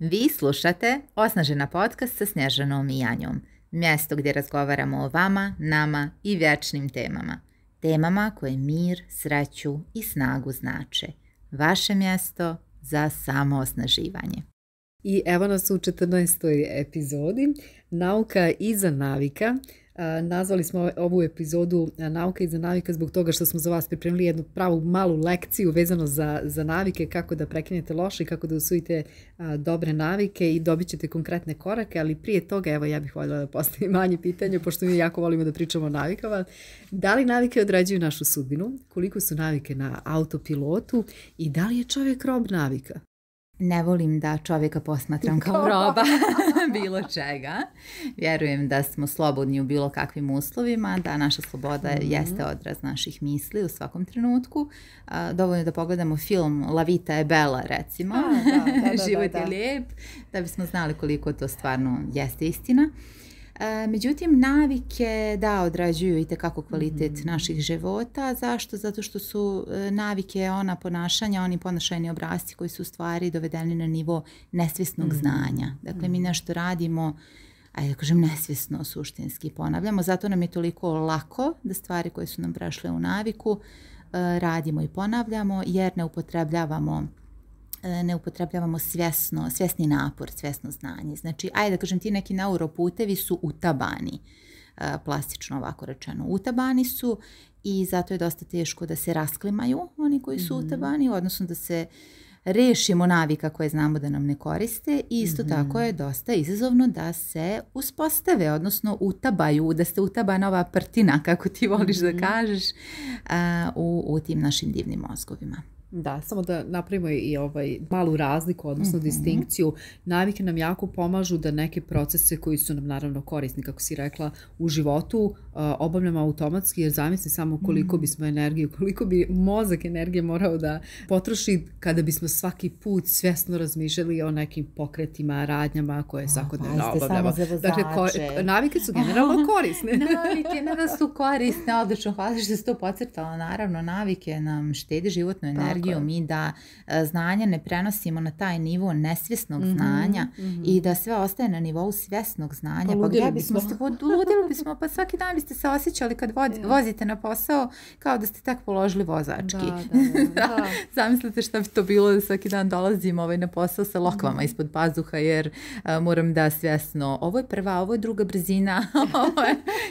Vi slušate Osnažena podcast sa Snježanom i Janjom. Mjesto gdje razgovaramo o vama, nama i vječnim temama. Temama koje mir, sreću i snagu znače. Vaše mjesto za samoosnaživanje. I evo nas u 14. epizodi Nauka iza navika. Nazvali smo ovu epizodu Nauka iza navika zbog toga što smo za vas pripremili jednu pravu malu lekciju vezano za navike, kako da prekinete loše i kako da usvojite dobre navike i dobit ćete konkretne korake, ali prije toga evo ja bih voljela da postavim manje pitanje, pošto mi jako volimo da pričamo o navikama. Da li navike određuju našu sudbinu? Koliko su navike na autopilotu? I da li je čovjek rob navika? Ne volim da čovjeka posmatram kao roba bilo čega. Vjerujem da smo slobodni u bilo kakvim uslovima, da naša sloboda jeste odraz naših misli u svakom trenutku. Dovoljno da pogledamo film La vita je bella, recimo. Život je lijep, da bismo znali koliko to stvarno jeste istina. Međutim, navike određuju itekako kvalitet naših života. Zašto? Zato što su navike ona ponašanja, oni ponašajni obrasci koji su u stvari dovedeni na nivo nesvjesnog znanja. Dakle, mi nešto radimo, ajde da kažem nesvjesno, suštinski ponavljamo. Zato nam je toliko lako da stvari koje su nam prešle u naviku radimo i ponavljamo, jer ne upotrebljavamo svjesni napor, svjesno znanje. Znači, ajde da kažem, ti neki neuroputevi su utabani, plastično ovako rečeno. Utabani su i zato je dosta teško da se rasklimaju oni koji su utabani, odnosno da se rešimo navika koje znamo da nam ne koriste i isto tako je dosta izazovno da se uspostave, odnosno utabaju, da se utaba nova prtina, kako ti voliš da kažeš, u tim našim divnim mozgovima. Da, samo da napravimo i malu razliku, odnosno distinkciju. Navike nam jako pomažu da neke procese koji su nam naravno korisni, kako si rekla, u životu obavljamo automatski, jer zamisli samo koliko bismo energiju, koliko bi mozak energije morao da potroši kada bismo svaki put svjesno razmišljali o nekim pokretima, radnjama koje svakodnevno obavljamo. Dakle, navike su generalno korisne. Navike ne da su korisne, odlično, hvala što se to podcrtala. Naravno, navike nam štede životnu energiju. Mi da znanja ne prenosimo na taj nivo nesvjesnog znanja i da sve ostaje na nivou svjesnog znanja. Ludili bismo, pa svaki dan biste se osjećali kad vozite na posao kao da ste tak položili vozački. Zamislite šta bi to bilo da svaki dan dolazim na posao sa lokvama ispod pazuha, jer moram da svjesno, ovo je prva, ovo je druga brzina,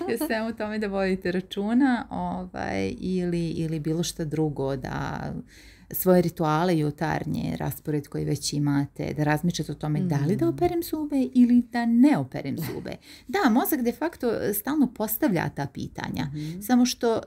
je sve u tome da vodite računa, ili bilo šta drugo, da svoje rituale jutarnje, raspored koji već imate, da razmišljate o tome da li da operem zube ili da ne operem zube. Da, mozak de facto stalno postavlja ta pitanja. Samo što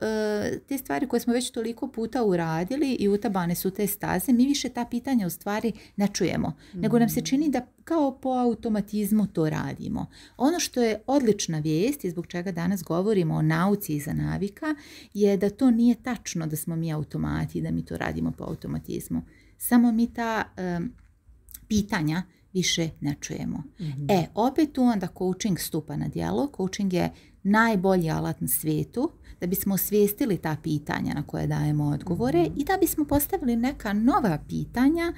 te stvari koje smo već toliko puta uradili i utabane su te staze, mi više ta pitanja u stvari ne čujemo. Nego nam se čini da kao po automatizmu to radimo. Ono što je odlična vijest i zbog čega danas govorimo o nauci iza navika je da to nije tačno da smo mi automati i da mi to radimo po automatizmu. Samo mi ta pitanja više ne čujemo. Opet tu onda coaching stupa na djelo. Coaching je najbolji alat na svijetu da bismo osvijestili ta pitanja na koje dajemo odgovore i da bismo postavili neka nova pitanja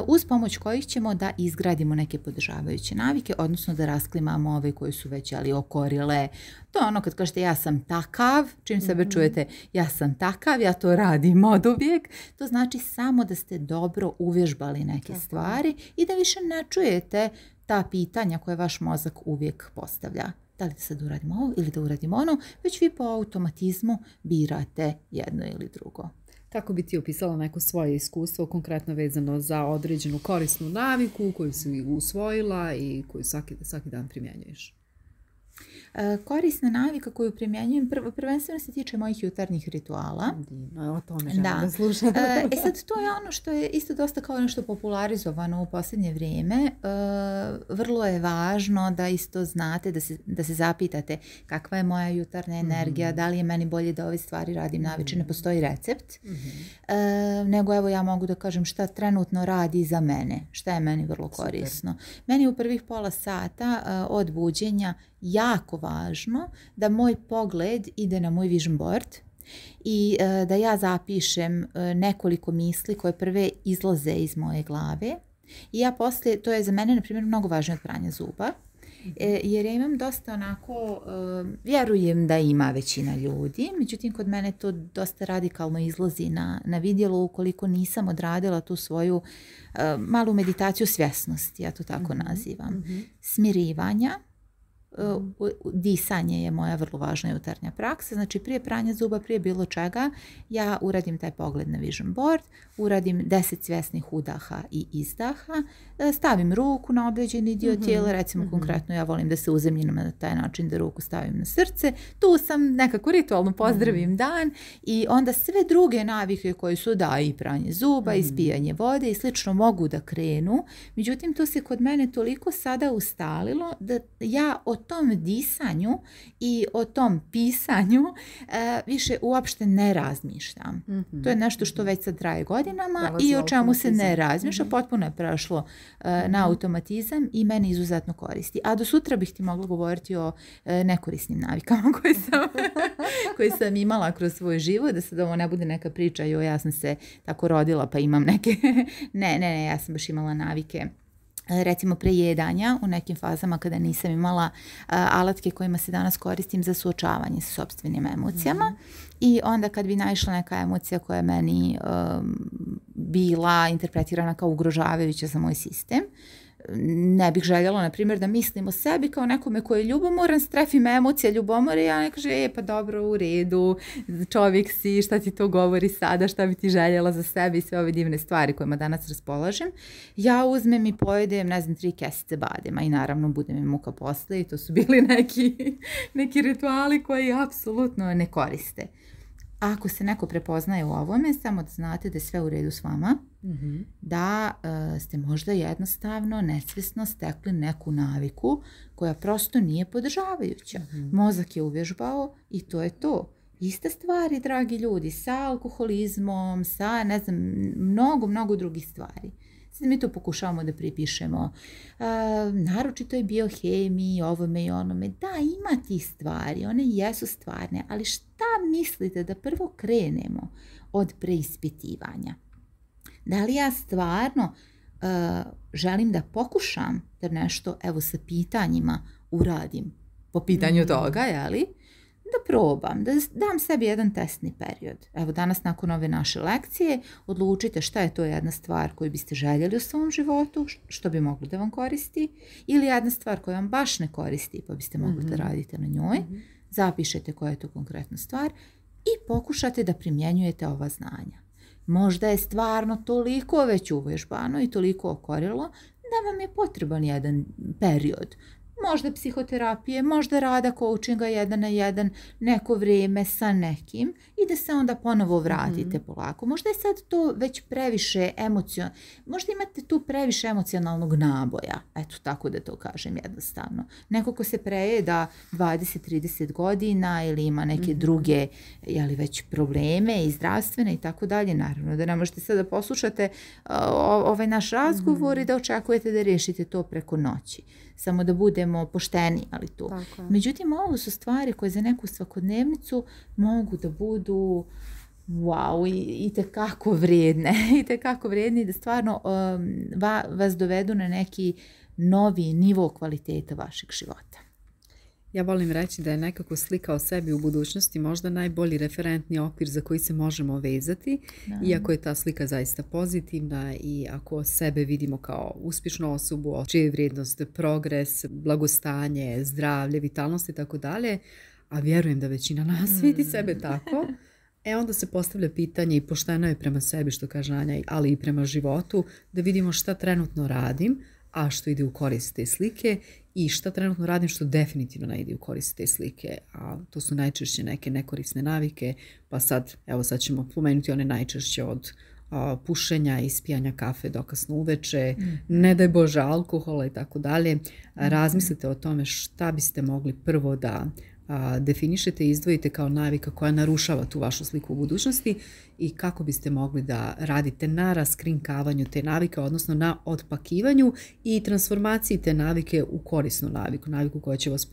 uz pomoć kojih ćemo da izgradimo neke podržavajuće navike, odnosno da rasklimamo ove koje su već okorile. To je ono kad kažete ja sam takav, čim sebe čujete ja sam takav, ja to radim od uvijek, to znači samo da ste dobro uvježbali neke stvari i da više ne čujete ta pitanja koje vaš mozak uvijek postavlja. Da li da sad uradimo ovo ili da uradimo ono, već vi po automatizmu birate jedno ili drugo. Kako bi ti opisala neko svoje iskustvo konkretno vezano za određenu korisnu naviku koju si usvojila i koju svaki dan primjenjuješ? Korisna navika koju primjenjujem prvenstveno se tiče mojih jutarnjih rituala. O tome želim da slušam. Sad to je ono što je isto dosta kao nešto popularizovano u posljednje vrijeme. Vrlo je važno da isto znate, da se zapitate kakva je moja jutarnja energija, da li je meni bolje da ove stvari radim navečer, ne postoji recept. Nego evo ja mogu da kažem šta trenutno radi za mene, šta je meni vrlo korisno. Meni u prvih pola sata od buđenja jako važno da moj pogled ide na moj vision board i da ja zapišem nekoliko misli koje prve izlaze iz moje glave I ja poslije, to je za mene, na primjer, mnogo važnije od pranja zuba, jer ja imam dosta onako, vjerujem da ima većina ljudi, međutim kod mene to dosta radikalno izlazi na vidjelo ukoliko nisam odradila tu svoju malu meditaciju svjesnosti, ja to tako nazivam, smirivanja. Disanje je moja vrlo važna jutarnja praksa, znači prije pranja zuba, prije bilo čega, ja uradim taj pogled na vision board, uradim 10 svjesnih udaha i izdaha, stavim ruku na određeni dio tijela, recimo konkretno ja volim da se uzemljim na taj način da ruku stavim na srce, tu sam nekako ritualno pozdravim dan i onda sve druge navike koje su i pranje zuba, i ispijanje vode i slično mogu da krenu, međutim to se kod mene toliko sada ustalilo da ja o tom disanju i o tom pisanju više uopšte ne razmišljam. To je nešto što već sad traje godinama i o čemu se ne razmišlja. Potpuno je prešlo na automatizam i mene izuzetno koristi. A do sutra bih ti mogla govoriti o nekorisnim navikama koje sam imala kroz svoj život, da sad ovo ne bude neka priča, ja sam se tako rodila pa imam neke... Ne, ja sam baš imala navike. Recimo prejedanja u nekim fazama kada nisam imala alatke kojima se danas koristim za suočavanje sa sopstvenim emocijama i onda kad bi naišla neka emocija koja je meni bila interpretirana kao ugrožavajuća za moj sistem, ne bih željela, na primjer, da mislim o sebi kao nekome koji je ljubomoran, strefi me emocija ljubomore i ja ne kaže, pa dobro, u redu, čovjek si, šta ti to govori sada, šta bi ti željela za sebe i sve ove divne stvari kojima danas raspolažem. Ja uzmem i pojedem, 3 kesice badema i naravno bude mi muka posle i to su bili neki rituali koji apsolutno ne koriste. Ako se neko prepoznaje u ovome, samo da znate da je sve u redu s vama, da ste možda jednostavno nesvjesno stekli neku naviku koja prosto nije podržavajuća. Mozak je uvježbao i to je to. Iste stvari, dragi ljudi, sa alkoholizmom, sa mnogo drugih stvari. Sad mi to pokušavamo da pripišemo. Naročito je biohemiji, ovome i onome. Da, ima tih stvari, one jesu stvarne, ali šta mislite da prvo krenemo od preispitivanja? Da li ja stvarno želim da pokušam da nešto, evo sa pitanjima uradim po pitanju toga, jeli? Da probam, da dam sebi jedan testni period. Evo danas nakon ove naše lekcije odlučite šta je to jedna stvar koju biste željeli u svom životu, što bi moglo da vam koristi, ili jedna stvar koja vam baš ne koristi pa biste mogli da radite na njoj. Zapišete koja je to konkretna stvar i pokušate da primjenjujete ova znanja. Možda je stvarno toliko već uvježbano i toliko okorilo da vam je potreban jedan period. Možda psihoterapije, možda rada coachinga 1 na 1, neko vrijeme sa nekim i da se onda ponovo vratite polako. Možda je sad to već previše možda imate tu previše emocionalnog naboja, eto tako da to kažem jednostavno. Neko ko se prejeda 20-30 godina ili ima neke druge već probleme i zdravstvene i tako dalje, naravno da ne možete sad da poslušate ovaj naš razgovor i da očekujete da riješite to preko noći. Samo da budemo pošteni, ali tu. Međutim, ovo su stvari koje za neku svakodnevnicu mogu da budu i tekako vrijedne. I tekako vrijedne da stvarno vas dovedu na neki novi nivo kvaliteta vašeg života. Ja volim reći da je nekako slika o sebi u budućnosti možda najbolji referentni okvir za koji se možemo vezati, iako je ta slika zaista pozitivna i ako sebe vidimo kao uspješnu osobu, čija je vrijednost progres, blagostanje, zdravlje, vitalnost i tako dalje, a vjerujem da većina nas vidi sebe tako, onda se postavlja pitanje i pošteno je prema sebi, što kaže Anja, ali i prema životu, da vidimo šta trenutno radim, a što ide u korist te slike i šta trenutno radim što definitivno ne ide u korist te slike. A to su najčešće neke nekorisne navike, pa sad ćemo pomenuti one najčešće od pušenja, ispijanja kafe dokasno uveče, ne daj Bože alkohola i tako dalje. Razmislite o tome šta biste mogli prvo da definišete i izdvojite kao navika koja narušava tu vašu sliku u budućnosti i kako biste mogli da radite na raskrinkavanju te navike, odnosno na otpakivanju i transformaciji te navike u korisnu naviku koja će vas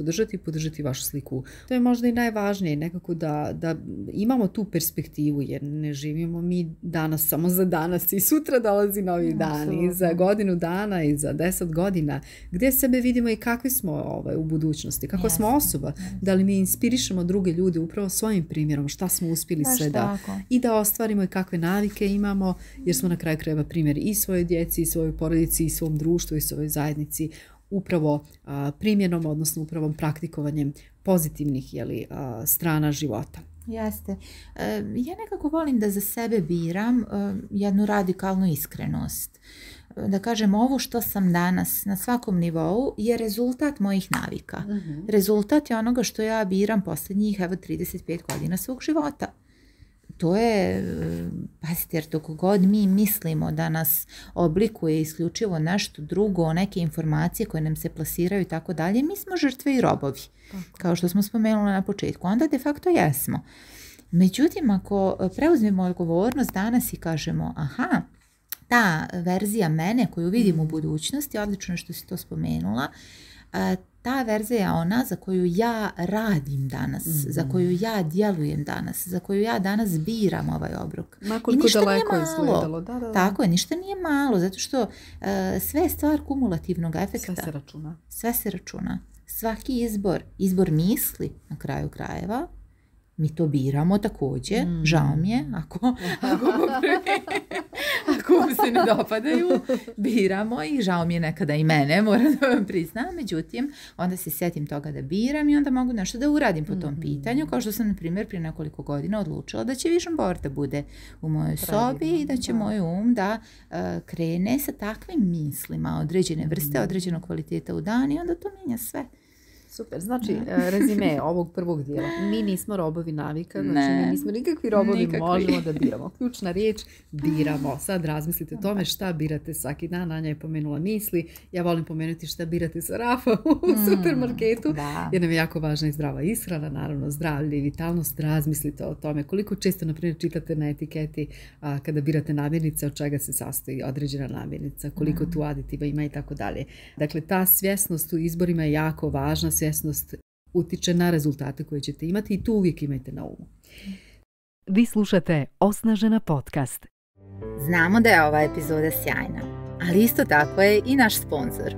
podržati vašu sliku. To je možda i najvažnije, nekako da imamo tu perspektivu, jer ne živimo mi danas samo za danas i sutra dolazi novi dan i za godinu dana i za 10 godina. Gdje sebe vidimo i kakvi smo u budućnosti, kako smo osoba, da li mi inspirišemo druge ljude upravo svojim primjerom, šta smo uspjeli sve i da ostvarimo i kakve navike imamo, jer smo na kraju krajeva primjer i svojoj djeci, i svojoj porodici, i svom društvu, i svojoj zajednici, upravo primjenom, odnosno upravo praktikovanjem pozitivnih strana života. Jeste. Ja nekako volim da za sebe biram jednu radikalnu iskrenost. Da kažem, ovo što sam danas na svakom nivou je rezultat mojih navika. Rezultat je onoga što ja biram posljednjih 35 godina svog života. To je, pazite, jer dok god mi mislimo da nas oblikuje isključivo nešto drugo, neke informacije koje nam se plasiraju i tako dalje, mi smo žrtve i robovi, kao što smo spomenuli na početku. Onda de facto jesmo. Međutim, ako preuzmemo odgovornost danas i kažemo, aha, ta verzija mene koju vidim u budućnosti, odlično što si to spomenula, ta verzija je ona za koju ja radim danas, za koju ja djelujem danas, za koju ja danas biram ovaj obrok. I ništa nije malo. Tako je, ništa nije malo, zato što sve je stvar kumulativnog efekta. Sve se računa. Svaki izbor misli na kraju krajeva, mi to biramo također, žao mi je, ako vam se ne dopadaju, biramo i žao mi je nekada i mene, moram da vam priznam, međutim, onda se sjetim toga da biram i onda mogu nešto da uradim po tom pitanju, kao što sam, na primjer, prije nekoliko godina odlučila da će vision board da bude u mojoj sobi i da će moj da krene sa takvim mislima određene vrste, određenog kvaliteta u dan i onda to mijenja sve. Super, znači rezime ovog prvog dijela. Mi nismo robovi navika, znači mi nismo nikakvi robovi, možemo da biramo. Ključna riječ, biramo. Sad razmislite o tome šta birate svaki dan. Anja je pomenula misli. Ja volim pomenuti šta birate sa Rafa u supermarketu, jer nam je jako važna i zdrava ishrana, naravno zdravlje i vitalnost. Razmislite o tome koliko često, na primjer, čitate na etiketi kada birate namirnice, od čega se sastoji određena namirnica, koliko tu aditiva ima i tako dalje. Dakle, ta svjesnost u izborima je jako važna. Svjesnost utiče na rezultate koje ćete imati i tu uvijek imajte na umu. Vi slušate Osnažena podcast. Znamo da je ova epizoda sjajna, ali isto tako je i naš sponsor.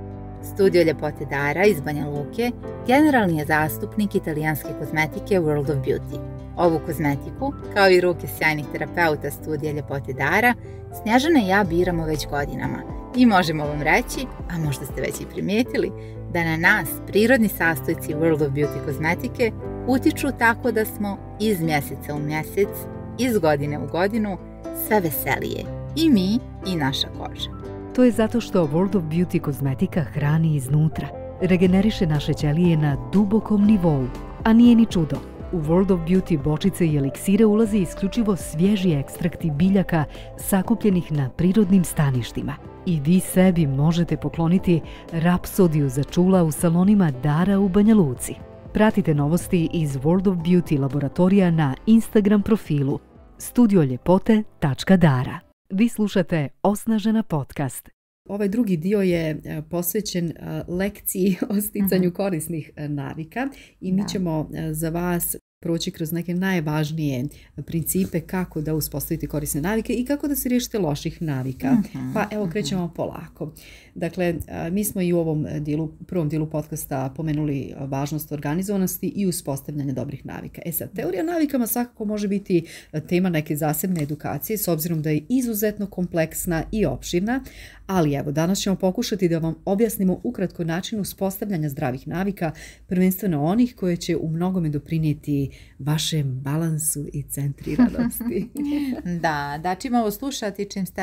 Studio ljepote Dara iz Banja Luke generalni je zastupnik italijanske kozmetike World of Beauty. Ovu kozmetiku, kao i ruke sjajnih terapeuta studija ljepote Dara, Snježana i ja biramo već godinama i možemo vam reći, a možda ste već i primijetili, da na nas prirodni sastojci World of Beauty kozmetike utiču tako da smo iz mjeseca u mjesec, iz godine u godinu sve veselije. I mi i naša koža. To je zato što World of Beauty kozmetika hrani iznutra, regeneriše naše ćelije na dubokom nivou, a nije ni čudo. U World of Beauty bočice i eliksire ulazi isključivo svježi ekstrakti biljaka sakupljenih na prirodnim staništima. I vi sebi možete pokloniti rapsodiju za čula u salonima Dara u Banja Luci. Pratite novosti iz World of Beauty laboratorija na Instagram profilu studioljepote.dara. Vi slušate Osnažena podcast. Ovaj drugi dio je posvećen lekciji o sticanju korisnih navika i mi ćemo za vas proći kroz neke najvažnije principe kako da uspostavite korisne navike i kako da se riješite loših navika. Pa evo krećemo polako. Dakle, mi smo i u ovom prvom dijelu podcasta pomenuli važnost organizovanosti i uspostavljanja dobrih navika. Sad, teorija navikama svakako može biti tema neke zasebne edukacije s obzirom da je izuzetno kompleksna i opširna, ali evo, danas ćemo pokušati da vam objasnimo ukratko način uspostavljanja zdravih navika, prvenstveno onih koje će u mnogome doprinijeti vašem balansu i centriranosti. Da, čim ovo slušati, čim ste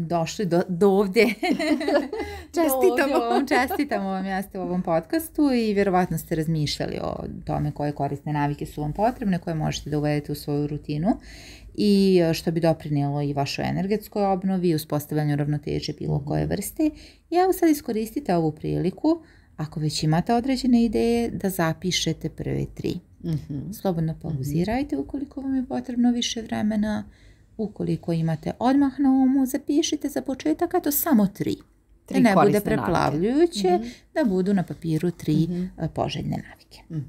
došli do ovdje. Čestitamo vam, jeste u ovom podcastu i vjerovatno ste razmišljali o tome koje korisne navike su vam potrebne, koje možete da uvedete u svoju rutinu i što bi doprinijelo i vašoj energetskoj obnovi i uspostavljanju ravnoteže bilo koje vrste. I evo sad iskoristite ovu priliku Ako već imate određene ideje, da zapišete prve 3. Slobodno pauzirajte ukoliko vam je potrebno više vremena. Ukoliko imate odmah na umu, zapišite za početak, a to samo 3. Da ne bude preplavljujuće, da budu na papiru 3 poželjne navike.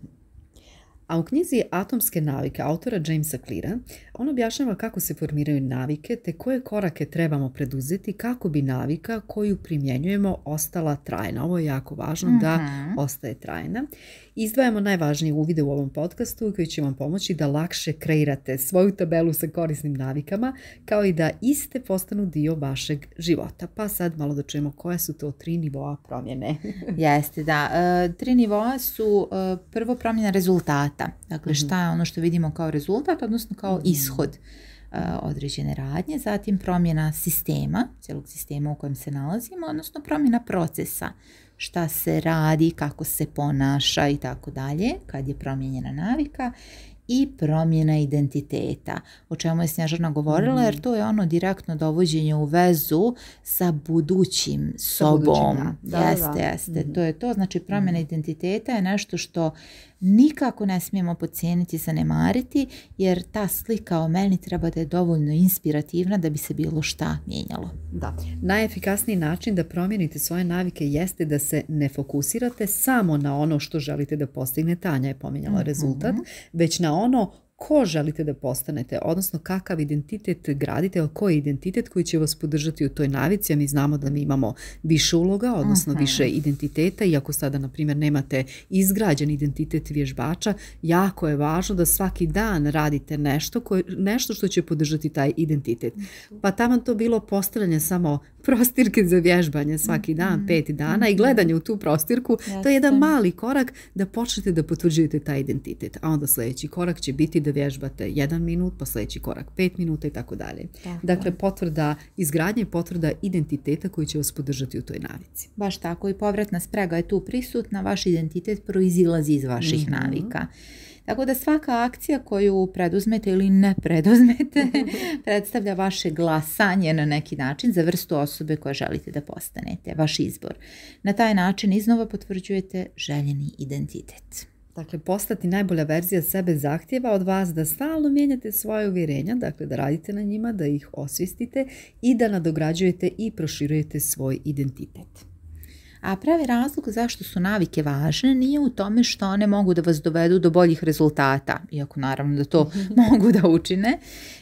A u knjizi Atomske navike autora Jamesa Cleara on objašnjava kako se formiraju navike te koje korake trebamo preduzeti kako bi navika koju primjenjujemo ostala trajna. Ovo je jako važno da ostaje trajna. Izdvajamo najvažnije uvide u ovom podcastu koji će vam pomoći da lakše kreirate svoju tabelu sa korisnim navikama kao i da iste postanu dio vašeg života. Pa sad malo da čujemo koje su to 3 nivoa promjene. Jeste, da. 3 nivoa su prvo promjena rezultata. Dakle, šta je ono što vidimo kao rezultat, odnosno kao ishod određene radnje. Zatim promjena sistema, cijelog sistema u kojem se nalazimo, odnosno promjena procesa. Šta se radi, kako se ponaša i tako dalje, kad je promijenjena navika. I promjena identiteta, o čemu je Snježana govorila, jer to je ono direktno dovođenje u vezu sa budućim sobom. Jeste. To je to. Znači, promjena identiteta je nešto što nikako ne smijemo podcijeniti, zanemariti, jer ta slika o meni treba da je dovoljno inspirativna da bi se bilo šta mijenjalo. Da. Najefikasniji način da promijenite svoje navike jeste da se ne fokusirate samo na ono što želite da postignete, Anja je pominjala rezultat, već na ono ko želite da postanete, odnosno kakav identitet gradite, koji je identitet koji će vas podržati u toj navici, a mi znamo da mi imamo više uloga, odnosno više identiteta, iako sada, na primjer, nemate izgrađen identitet vježbača, jako je važno da svaki dan radite nešto što će podržati taj identitet. Pa tamo to bilo postavljanje samo prostirke za vježbanje svaki dan, 5 dana i gledanje u tu prostirku, to je jedan mali korak da počnete da potvrđujete taj identitet, a onda sljedeći korak će biti da vježbate 1 minut, pa sljedeći korak 5 minuta i tako dalje. Dakle, potvrda izgradnje i potvrda identiteta koji će vas podržati u toj navici. Baš tako, i povratna sprega je tu prisutna, vaš identitet proizilazi iz vaših navika. Tako da svaka akcija koju preduzmete ili ne preduzmete predstavlja vaše glasanje na neki način za vrstu osobe koje želite da postanete, vaš izbor. Na taj način iznova potvrđujete željeni identitet. Dakle, postati najbolja verzija sebe zahtjeva od vas da stalno mijenjate svoje uvjerenja, dakle da radite na njima, da ih osvijestite i da nadograđujete i proširujete svoj identitet. A pravi razlog zašto su navike važne nije u tome što one mogu da vas dovedu do boljih rezultata, iako naravno da to mogu da učine,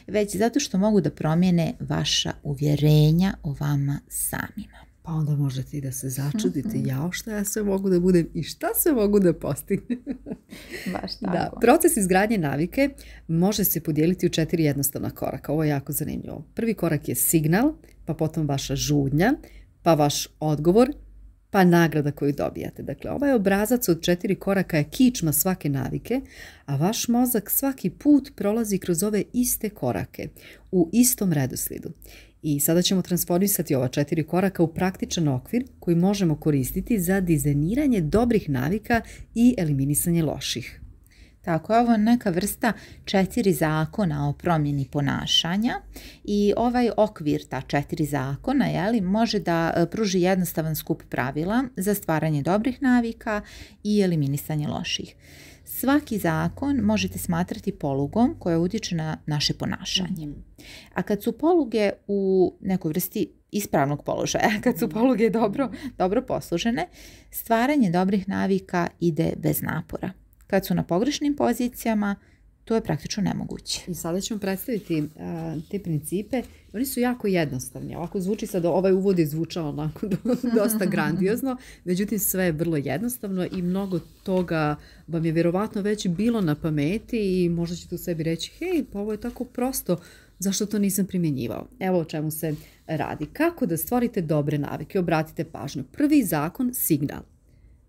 već zato što mogu da promijene vaša uvjerenja o vama samima. Pa onda možete i da se začudite, jao šta ja sve mogu da budem i šta sve mogu da postignem. Baš tako. Da, proces izgradnje navike može se podijeliti u 4 jednostavna koraka. Ovo je jako zanimljivo. Prvi korak je signal, pa potom vaša žudnja, pa vaš odgovor, pa nagrada koju dobijate. Dakle, ovaj obrazac od 4 koraka je kičma svake navike, a vaš mozak svaki put prolazi kroz ove iste korake u istom redoslijedu. I sada ćemo transformisati ova 4 koraka u praktičan okvir koji možemo koristiti za dizajniranje dobrih navika i eliminisanje loših. Tako je, ovo neka vrsta 4 zakona o promjeni ponašanja i ovaj okvir, ta 4 zakona, može da pruži jednostavan skup pravila za stvaranje dobrih navika i eliminisanje loših. Svaki zakon možete smatrati polugom koja utječe na naše ponašanje. A kad su poluge u nekoj vrsti ispravnog položaja, kad su poluge dobro poslužene, stvaranje dobrih navika ide bez napora. Kad su na pogrešnim pozicijama, to je praktično nemoguće. I sada ćemo predstaviti te principe. Oni su jako jednostavni. Ovako zvuči sad, ovaj uvod je zvučao onako dosta grandiozno, međutim sve je vrlo jednostavno i mnogo toga vam je vjerovatno već bilo na pameti i možda ćete u sebi reći, hej, pa ovo je tako prosto, zašto to nisam primjenjivao? Evo o čemu se radi. Kako da stvorite dobre navike? Obratite pažnju. Prvi zakon, signal.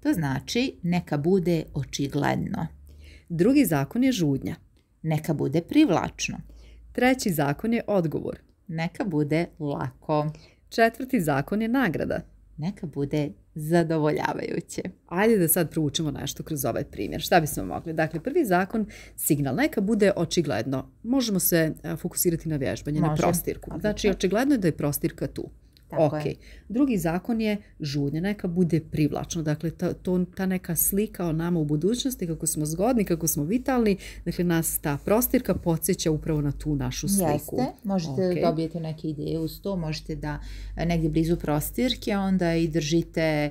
To znači neka bude očigledno. Drugi zakon je žudnja. Neka bude privlačno. Treći zakon je odgovor. Neka bude lako. Četvrti zakon je nagrada. Neka bude zadovoljavajuće. Ajde da sad proučimo nešto kroz ovaj primjer. Šta bismo mogli? Dakle, prvi zakon, signal. Neka bude očigledno. Možemo se fokusirati na vježbanje, na prostirku. Znači, očigledno je da je prostirka tu. Tako ok. je. Drugi zakon je žudnja, neka bude privlačno. Dakle, ta neka slika o nama u budućnosti, kako smo zgodni, kako smo vitalni, dakle, nas ta prostirka podsjeća upravo na tu našu sliku. Jeste, možete da dobijete neke ideje uz to, možete da negdje blizu prostirke onda i držite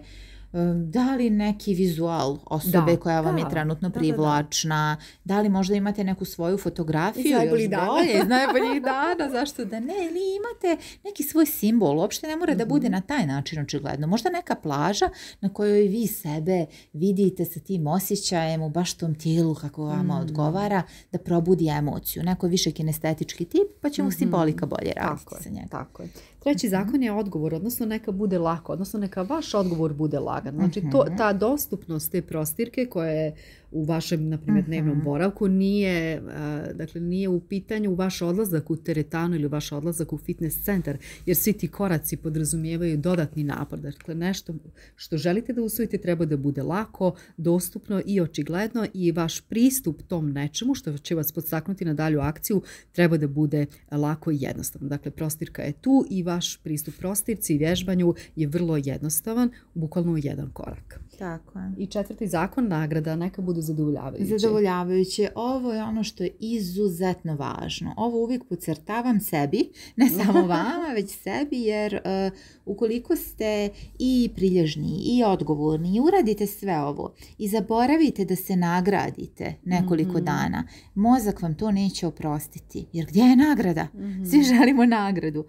da li neki vizual osobe koja vam je trenutno privlačna, da li možda imate neku svoju fotografiju iz najboljih dana, zašto da ne, ili imate neki svoj simbol, uopšte ne mora da bude na taj način očigledno, možda neka plaža na kojoj vi sebe vidite sa tim osjećajem u baš tom tijelu kako vama odgovara, da probudi emociju, neko više kinestetički tip, pa će mu simbolika bolje raditi sa njega. Tako je. Treći zakon je odgovor, odnosno neka bude lako, odnosno neka vaš odgovor bude lagan. Znači ta dostupnost te prostirke koja je u vašem, na primjer, dnevnom boravku nije u pitanju vaš odlazak u teretanu ili vaš odlazak u fitness centar, jer svi ti koraci podrazumijevaju dodatni napor. Dakle, nešto što želite da usvojite treba da bude lako, dostupno i očigledno i vaš pristup tom nečemu što će vas podstaknuti na dalju akciju treba da bude lako i jednostavno. Dakle, prostirka je tu i vaš pristup prostirci i vježbanju je vrlo jednostavan, bukvalno u jedan korak. Tako je. I četvrti zakon, nagrada, neka budu zadovoljavajuće. Zadovoljavajuće. Ovo je ono što je izuzetno važno. Ovo uvijek podcrtavam sebi, ne samo vama, već sebi, jer ukoliko ste i prilježni i odgovorni i uradite sve ovo i zaboravite da se nagradite nekoliko dana, mozak vam to neće oprostiti. Jer gdje je nagrada? Svi želimo nagradu.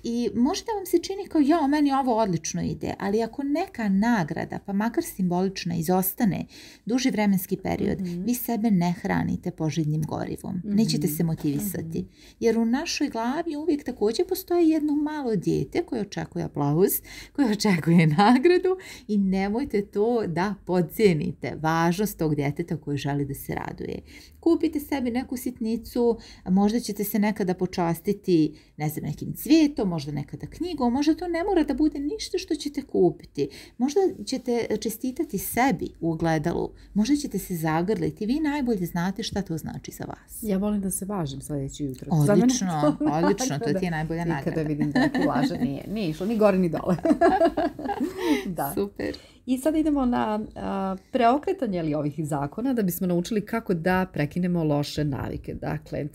I možda vam se čini kao meni ovo odlično ide, ali ako neka nagrada, pa makar simbolična, izostane duži vremenski period, vi sebe ne hranite poželjnim gorivom. Nećete se motivisati. Jer u našoj glavi uvijek također postoji jedno malo dijete koje očekuje aplauz, koje očekuje nagradu i nemojte to da podcijenite. Važnost tog djeteta koje želi da se raduje. Kupite sebi neku sitnicu, možda ćete se nekada počastiti, ne znam, nekim cvijetom, možda nekada knjigom, možda to ne mora da bude ništa što ćete kupiti. Možda ćete čestitati sebi u ogledalu, možda ćete se zagrliti, vi najbolje znate šta to znači za vas. Ja volim da se važim sljedeći jutro. Odlično, to ti je najbolja nagrada. I kada vidim da ti laže, nije išlo ni gore ni dole. Da. Super. I sada idemo na preokretanje ovih zakona da bismo naučili kako da prekinemo loše navike. Dakle,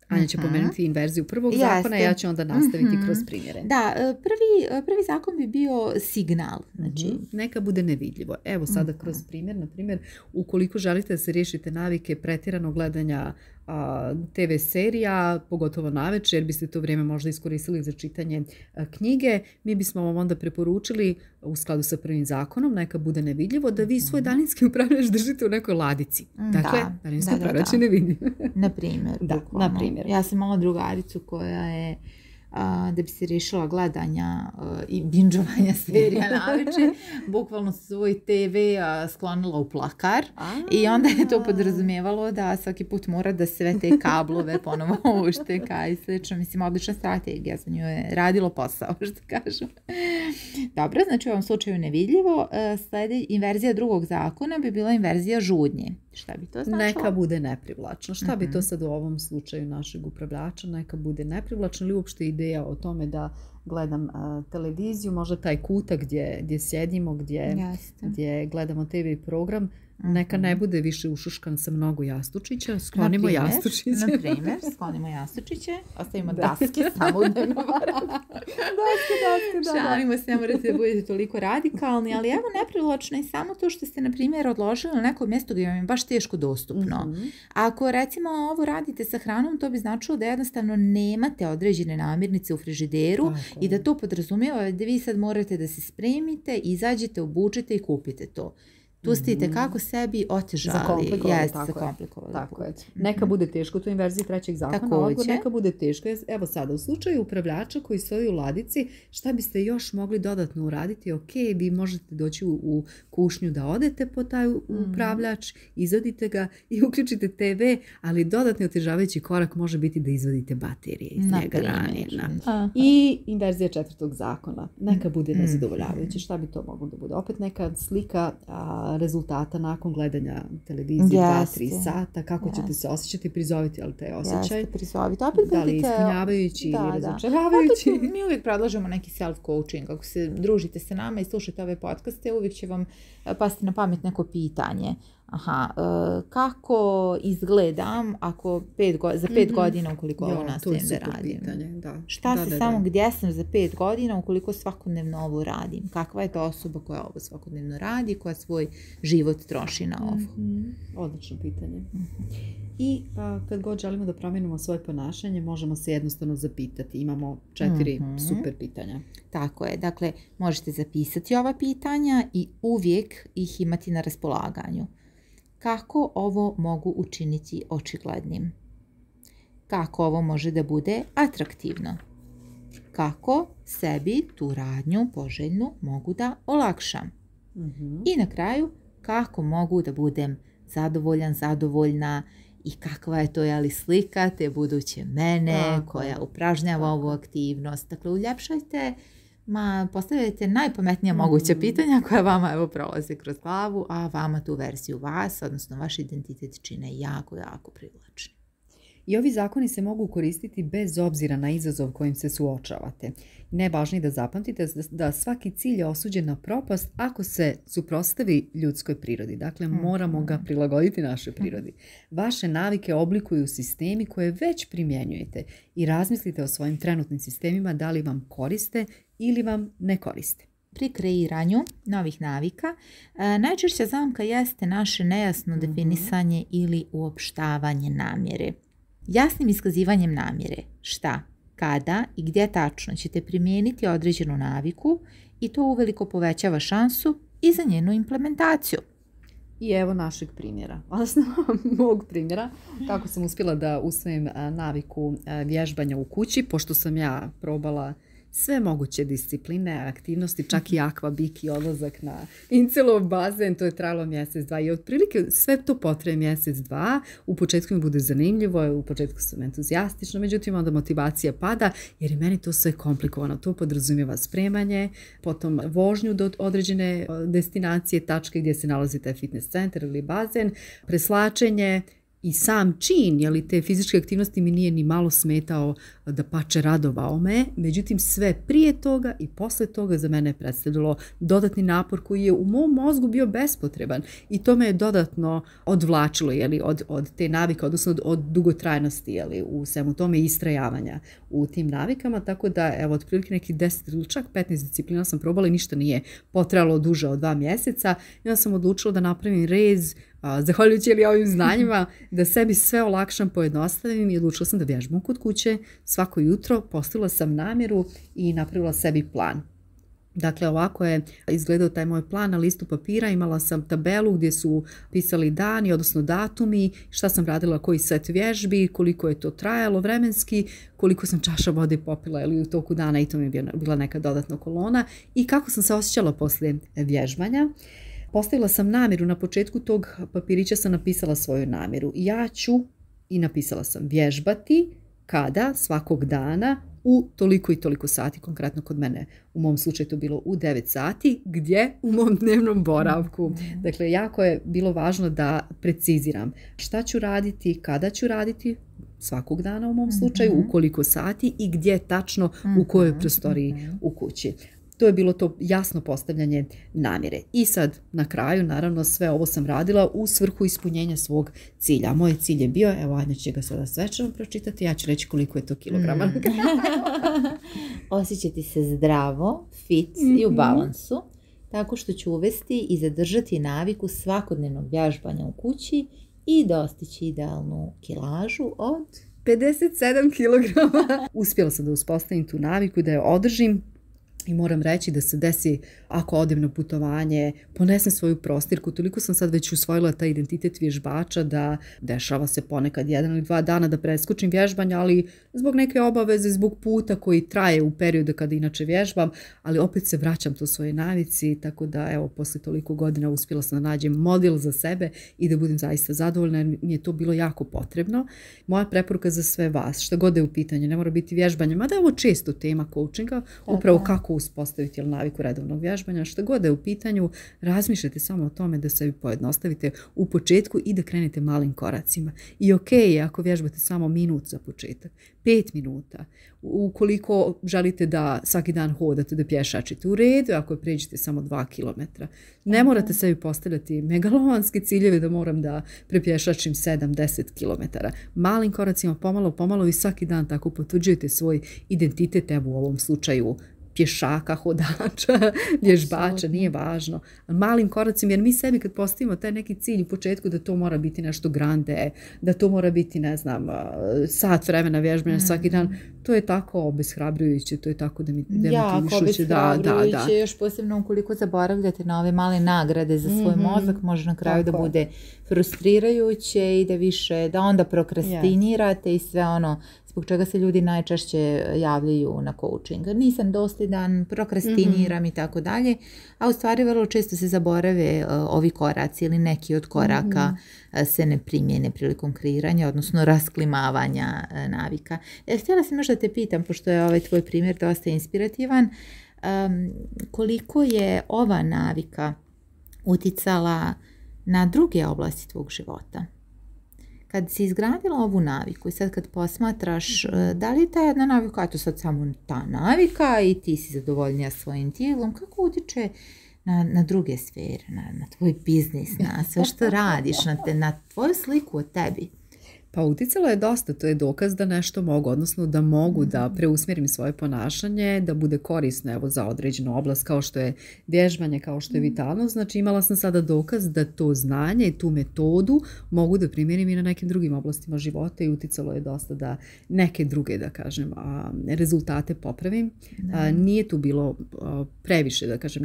Anja će pomenuti inverziju prvog zakona, ja ću onda nastaviti kroz primjere. Da, prvi zakon bi bio signal. Znači, neka bude nevidljivo. Evo sada kroz primjer, na primjer, ukoliko želite da se riješite navike pretjerano gledanja TV serija, pogotovo navečer, jer biste to vrijeme možda iskoristili za čitanje knjige, mi bismo vam onda preporučili u skladu sa prvim zakonom, neka bude nevidljivo, da vi svoj daljinski upravljač držite u nekoj ladici. Dakle, daljinski upravljač je nevidljiv. Na primjer. Ja sam imala drugaricu koja je da bi se riješila gledanja i binđovanja serija navečer, bukvalno svoj TV sklonila u plakar i onda je to podrazumijevalo da svaki put mora da sve te kablove ponovo ušteka i slično. Mislim, odlična strategija, za nju je radilo posao, što kažu. Dobro, znači u ovom slučaju nevidljivo. Inverzija drugog zakona bi bila inverzija žudnje. Šta bi to značilo? Neka bude neprivlačno. Šta bi to sad u ovom slučaju našeg upravljača? Neka bude neprivlačno ili uopšte ideja o tome da gledam televiziju, možda taj kutak gdje sjedimo, gdje gledamo TV program, neka ne bude više ušuškan sa mnogo jastučića, sklonimo jastučiće. Na primjer, sklonimo jastučiće, ostavimo daske samo u dnevnom boravku. Daske. Šalimo se, ne morate da budete toliko radikalni, ali evo neprivlačno je samo to što ste, na primjer, odložili na neko mjesto gdje vam je baš teško dostupno. Ako recimo ovo radite sa hranom, to bi značilo da jednostavno nemate određene namirnice u frižideru i da to podrazumijeva da vi sad morate da se spremite, izađete, obučete i kupite to. Tu ste kako sebi otežali. Zakomplikovali. Tako je. Neka bude teško, to je inverzija trećeg zakona. Odgovor, neka bude teško. Evo sada, u slučaju upravljača koji stoji u ladici, šta biste još mogli dodatno uraditi? Ok, vi možete doći u kušnju da odete po taj upravljač, izvadite ga i uključite TV, ali dodatni otežavajući korak može biti da izvadite baterije iz njega ranije. I inverzija četvrtog zakona. Neka bude nezadovoljavajuća. Šta bi to moglo da bude? Opet neka slika rezultata nakon gledanja televizije 2-3 sata, kako ćete se osjećati, prizoviti ali taj osjećaj. Jeste, prizoviti. Opet da li ispunjavajući ili razočaravajući. Mi uvijek predlažemo neki self-coaching. Ako se družite sa nama i slušate ove podcaste, uvijek će vam pasti na pamet neko pitanje. Kako izgledam ako za 5 godina ukoliko ovo nastavim da radim? Pitanje, Šta se samo gdje sam za 5 godina ukoliko svakodnevno ovo radim? Kakva je to osoba koja ovo svakodnevno radi, koja svoj život troši na ovo? Odlično pitanje. I kad god želimo da promijenimo svoje ponašanje, možemo se jednostavno zapitati. Imamo 4 super pitanja. Tako je. Dakle, možete zapisati ova pitanja i uvijek ih imati na raspolaganju. Kako ovo mogu učiniti očiglednim? Kako ovo može da bude atraktivno? Kako sebi tu radnju poželjnu mogu da olakšam? I na kraju, kako mogu da budem zadovoljan, zadovoljna i kakva je to slika te buduće mene koja upražnjava ovu aktivnost. Dakle, uljepšajte, postavljajte najpametnija moguća pitanja koja vama prolaze kroz glavu, a vama tu verziju vas, odnosno vaš identitet čine jako, jako privlačni. I ovi zakoni se mogu koristiti bez obzira na izazov kojim se suočavate. Najvažnije da zapamtite da svaki cilj je osuđen na propast ako se suprotstavi ljudskoj prirodi. Dakle, moramo ga prilagoditi našoj prirodi. Vaše navike oblikuju sistemi koje već primjenjujete i razmislite o svojim trenutnim sistemima da li vam koriste ili vam ne koriste. Pri kreiranju novih navika najčešća zamka jeste naše nejasno definisanje ili uopštavanje namjere. Jasnim iskazivanjem namjere, šta, kada i gdje tačno ćete primijeniti određenu naviku i to uveliko povećava šansu i za njenu implementaciju. I evo našeg primjera, odnosno mog primjera, kako sam uspjela da usvojim naviku vježbanja u kući, pošto sam ja probala sve moguće discipline, aktivnosti, čak i akvabik i odlazak na Incelov bazen, to je trajalo mjesec, 2 i otprilike sve to potraje mjesec, 2. U početku mi bude zanimljivo, u početku sam entuzijastična, međutim onda motivacija pada jer je meni to sve komplikovano. To podrazumijeva spremanje, potom vožnju do određene destinacije, tačke gdje se nalazi taj fitness centar ili bazen, preslačenje, i sam čin, te fizičke aktivnosti mi nije ni malo smetao, da pače radovao me, međutim sve prije toga i posle toga za mene je predstavljalo dodatni napor koji je u mom mozgu bio bespotreban i to me je dodatno odvlačilo od te navike, odnosno od dugotrajnosti u svemu tome i istrajavanja u tim navikama, tako da evo otprilike nekih 10 ili čak 15 disciplina sam probala i ništa nije potrajalo duže od 2 mjeseca i onda sam odlučila da napravim rez, zahvaljujući ovim znanjima, da sebi sve olakšam, pojednostavim i odlučila sam da vježbam kod kuće svako jutro, postavila sam namjeru i napravila sebi plan. Dakle, ovako je izgledao taj moj plan na listu papira, imala sam tabelu gdje su pisali dani, odnosno datumi, šta sam radila, koji set vježbi, koliko je to trajalo vremenski, koliko sam čaša vode popila u toku dana i to mi je bila neka dodatna kolona i kako sam se osjećala poslije vježbanja. Postavila sam namjeru, na početku tog papirića sam napisala svoju namjeru. Ja ću, i napisala sam, vježbati kada, svakog dana, u toliko i toliko sati, konkretno kod mene, u mom slučaju to bilo u 9 sati, gdje? U mom dnevnom boravku. Dakle, jako je bilo važno da preciziram šta ću raditi, kada ću raditi, svakog dana u mom slučaju, u koliko sati i gdje tačno, u kojoj prostoriji u kući. To je bilo to jasno postavljanje namjere. I sad, na kraju, naravno, sve ovo sam radila u svrhu ispunjenja svog cilja. Moj cilj je bio, evo, ajde će ga sada svečano pročitati, ja ću reći koliko je to kilograma. Osjećati se zdravo, fit i u balansu, tako što ću uvesti i zadržati naviku svakodnevnog vježbanja u kući i dostići idealnu kilažu od 57 kilograma. Uspjela sam da uspostavim tu naviku, da je održim. I moram reći da se desi, ako odem na putovanje, ponesem svoju prostirku, toliko sam sad već usvojila taj identitet vježbača da dešava se ponekad 1 ili 2 dana da preskočim vježbanje, ali zbog neke obaveze, zbog puta koji traje u periodu kada inače vježbam, ali opet se vraćam to svoje navici, tako da evo, posle toliko godina uspjela sam da nađem model za sebe i da budem zaista zadovoljna jer mi je to bilo jako potrebno. Moja preporuka za sve vas, šta god je u pitanju, ne mora biti vježbanje, mada je ovo često tema coachinga, upravo kako kako uspostaviti naviku redovnog vježbanja. Što god da je u pitanju, razmišljate samo o tome da sebi pojednostavite u početku i da krenete malim koracima. I ok je ako vježbate samo minut za početak, 5 minuta. Ukoliko želite da svaki dan hodate, da pješačite, u redu, ako pređete samo 2 kilometra. Ne morate sebi postavljati megalomanske ciljeve da moram da prepješačim 7-10 kilometara. Malim koracima, pomalo i svaki dan tako potvrđujete svoj identitet, evo u ovom slučaju pješaka, hodača, vježbača, nije važno. Malim koracima, jer mi sebi kad postavimo taj neki cilj u početku da to mora biti nešto grande, da to mora biti, ne znam, sat vremena vježbanja svaki dan, to je tako obeshrabrujuće, to je tako demotivišuće. Jako obeshrabrujuće, još posebno ukoliko zaboravljate na ove male nagrade za svoj mozak, može na kraju da bude frustrirajuće i da onda prokrastinirate i sve ono zbog čega se ljudi najčešće javljaju na coaching. Nisam dosljedan, prokrastiniram i tako dalje, a u stvari vrlo često se zaborave ovi koraci ili neki od koraka se ne primjene prilikom kreiranja, odnosno rasklimavanja navika. Htjela sam još da te pitam, pošto je ovaj tvoj primjer dosta inspirativan, koliko je ova navika uticala na druge oblasti tvog života? Kad si izgradila ovu naviku i sad kad posmatraš, da li je ta jedna navika, a to sad samo ta navika i ti si zadovoljnija svojim tijelom, kako utiče na druge sfere, na tvoj biznis, na sve što radiš, na tvoju sliku o tebi? Pa uticalo je dosta, to je dokaz da nešto mogu, odnosno da mogu da preusmjerim svoje ponašanje, da bude korisno evo, za određenu oblast kao što je vježbanje, kao što je vitalnost. Znači imala sam sada dokaz da to znanje i tu metodu mogu da primjerim i na nekim drugim oblastima života i uticalo je dosta da neke druge, da kažem, rezultate popravim. Nije tu bilo previše, da kažem,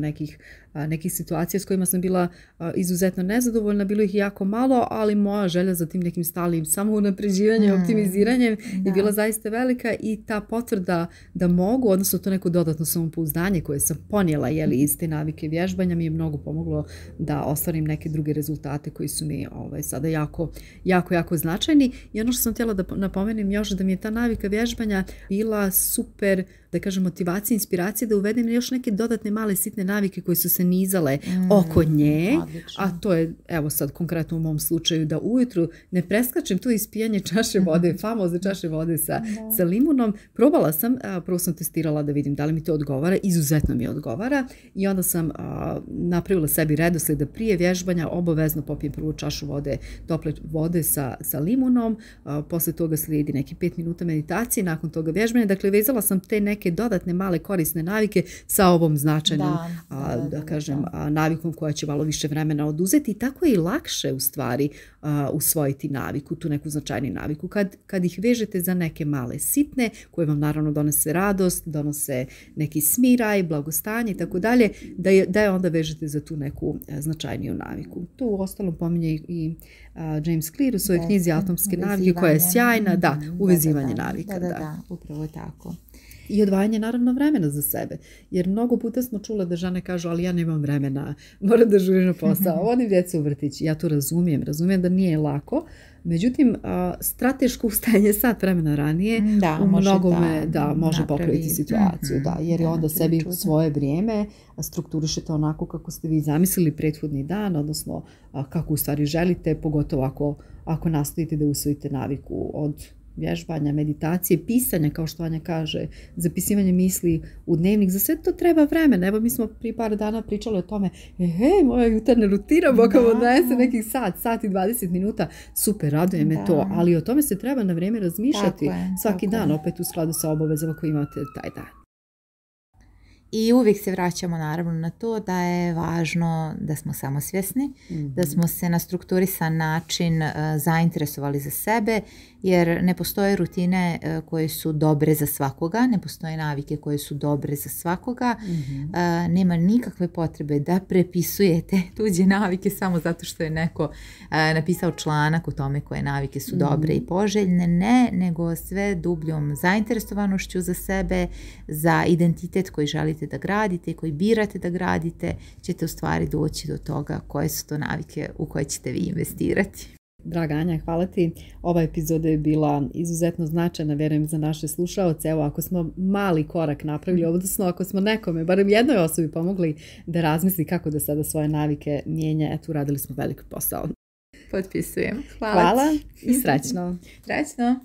nekih situacija s kojima sam bila izuzetno nezadovoljna, bilo ih jako malo, ali moja želja za tim nekim stalnim samounapređivanjem, optimiziranjem je bila zaista velika i ta potvrda da mogu, odnosno to neko dodatno samopouzdanje koje sam ponijela iz te navike vježbanja mi je mnogo pomoglo da ostvarim neke druge rezultate koji su mi sada jako značajni. I ono što sam htjela da napomenem još da mi je ta navika vježbanja bila super, da kažem, motivacija, inspiracija da uvedem još neke dodatne male sitne navike koje su se nizale oko nje, a to je, evo sad konkretno u mom slučaju, da ujutru ne preskačem to ispijanje čaše vode, famozne čaše vode sa limunom. Probala sam, prvo sam testirala da vidim da li mi to odgovara, izuzetno mi odgovara i onda sam napravila sebi redoslijed da prije vježbanja obavezno popijem prvu čašu vode, tople vode sa limunom, posle toga slijedi neki 5 minuta meditacije, nakon toga vježbanja. Dakle, vezala sam te neke dodatne male korisne navike sa ovom značajnom, da kažem, navikom koja će malo više vremena oduzeti i tako je i lakše u stvari usvojiti naviku, tu neku značajnu naviku. Kad ih vežete za neke male sitne, koje vam naravno donose radost, donose neki smiraj, blagostanje i tako dalje, da je onda vežete za tu neku značajniju naviku. To u ostalom pominje i James Clear u svojoj knjizi Atomske navike, koja je sjajna, uvezivanje navika. Da, upravo tako. I odvajanje naravno vremena za sebe. Jer mnogo puta smo čule da žene kažu ali ja nemam vremena, moram da žurim na posao, vodim djecu u vrtić. Ja to razumijem da nije lako. Međutim, strateško ustajanje sat vremena ranije u mnogome može popraviti situaciju. Jer je onda sebi svoje vrijeme strukturišete onako kako ste vi zamislili prethodni dan, odnosno kako u stvari želite, pogotovo ako nastojite da usvojite naviku od vježbanja, meditacije, pisanja, kao što Anja kaže, zapisivanje misli u dnevnik, za sve to treba vremena. Evo mi smo prije par dana pričali o tome, moja jutarnja rutina, Boga odnese nekih sat i 20 minuta, super, raduje me to, ali o tome se treba na vrijeme razmišljati svaki dan, opet u skladu sa obavezama koje imate taj dan. I uvijek se vraćamo naravno na to da je važno da smo samosvjesni, da smo se na strukturisan način zainteresovali za sebe, jer ne postoje rutine koje su dobre za svakoga, ne postoje navike koje su dobre za svakoga, nema nikakve potrebe da prepisujete tuđe navike samo zato što je neko napisao članak o tome koje navike su dobre i poželjne, nego sve dubljom zainteresovanošću za sebe, za identitet koji želite da gradite, koji birate da gradite, ćete u stvari doći do toga koje su to navike u koje ćete vi investirati. Draga Anja, hvala ti. Ova epizoda je bila izuzetno značajna, vjerujem, za naše slušaoce. Evo, ako smo mali korak napravili, odnosno ako smo nekome, barem jednoj osobi pomogli da razmisli kako da sada svoje navike mijenja, eto, uradili smo veliki posao. Potpisujem. Hvala i srećno. Srećno.